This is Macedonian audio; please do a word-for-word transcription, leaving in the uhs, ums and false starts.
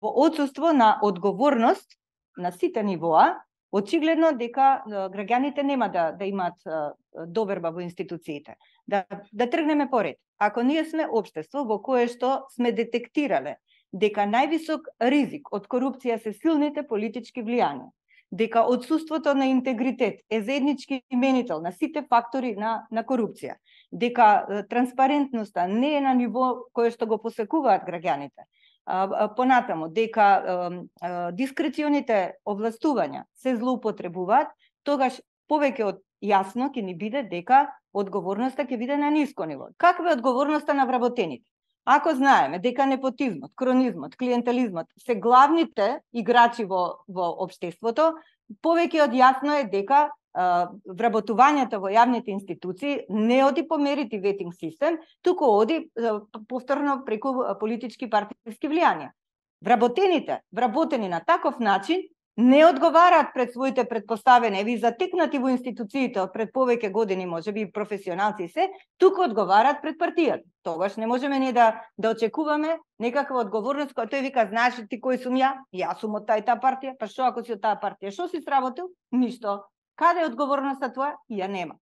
во отсуство на одговорност на сите нивоа, очигледно дека граѓаните нема да да имаат доверба во институциите. Да да тргнеме поред. Ако ние сме општество во кое што сме детектирале дека највисок ризик од корупција се силните политички влијанија, дека отсуството на интегритет е заеднички именител на сите фактори на на корупција, дека транспарентноста не е на ниво кое што го посекуваат граѓаните. Понатаму, дека дискреционите овластувања се злоупотребуваат, тогаш повеќе од јасно ќе ни биде дека одговорноста ќе биде на ниско ниво. Каква е одговорноста на вработените? Ако знаеме дека непотизмот, кронизмот, клиентелизмот се главните играчи во во општеството, повеќе од јасно е дека вработувањето во јавните институции не оди по мерити ветинг систем, туку оди повторно преку политички партиски влијанија. Вработените, вработени на таков начин, не одговараат пред своите предпоставени, ви затекнати во институциите од пред повеќе години, можеби професионалци се, туку одговараат пред партијата. Тогаш не можеме ние да да очекуваме некаква одговорност која тој вика, знаеш ти кој сум ја? Јас сум од таа и таа партија, па што ако си од таа партија, што си сработил? Ништо. Каде е одговорноста твоја? Ја нема.